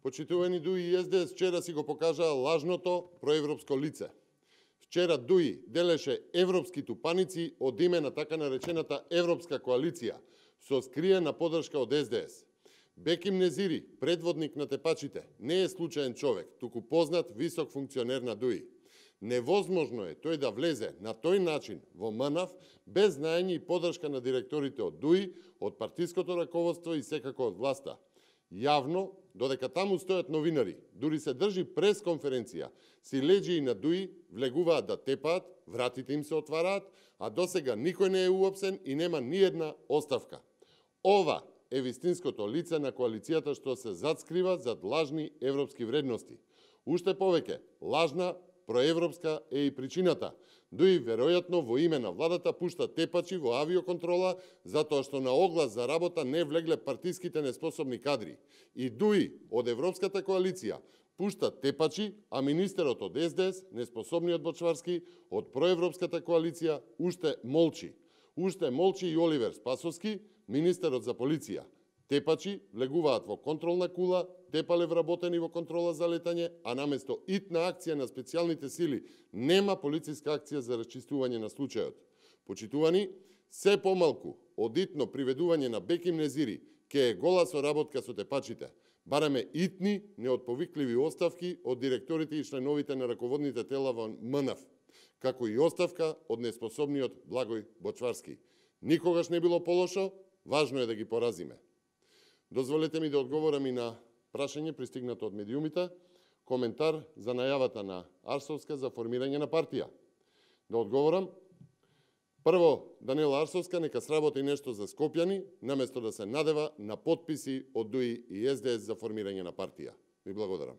Почитувани ДУИ и СДС вчера си го покажаа лажното проевропско лице. Вчера ДУИ делеше европски тупаници од име на така наречената Европска коалиција, со скриена подршка од СДС. Беким Незири, предводник на тепачите, не е случаен човек, туку познат висок функционер на ДУИ. Невозможно е тој да влезе на тој начин во МНАФ без знаење и подршка на директорите од ДУИ, од партиското раководство и секако од власта. Јавно, додека таму стојат новинари, дури се држи пресконференција, си леѓи и на ДУИ влегуваат да тепаат, вратите им се отвараат, а досега никој не е уопсен и нема ни една оставка. Ова е вистинското лице на коалицијата што се затскрива зад лажни европски вредности. Уште повеќе, лажна проевропска е и причината. ДУИ веројатно во име на владата пушта тепачи во авиоконтрола затоа што на оглас за работа не влегле партиските неспособни кадри. И ДУИ од Европската коалиција пушта тепачи, а министерот од СДС, неспособниот Бочварски, од проевропската коалиција уште молчи. Уште молчи и Оливер Спасовски, министерот за полиција. Тепачи влегуваат во контролна кула, тепале вработени во контрола за летање, а наместо итна акција на специјалните сили нема полициска акција за расчистување на случајот. Почитувани, се помалку од итно приведување на Беким Незири ке е гола соработка со тепачите. Бараме итни, неотповикливи оставки од директорите и членовите на раководните тела во МНАФ, како и оставка од неспособниот Благој Бочварски. Никогаш не било полошо, важно е да ги поразиме. Дозволете ми да одговорам и на прашање пристигнато од медиумите, коментар за најавата на Арсовска за формирање на партија. Да одговорам, прво, Даниела Арсовска нека сработи нешто за Скопјани, наместо да се надева на потписи од ДУИ и СДС за формирање на партија. Ви благодарам.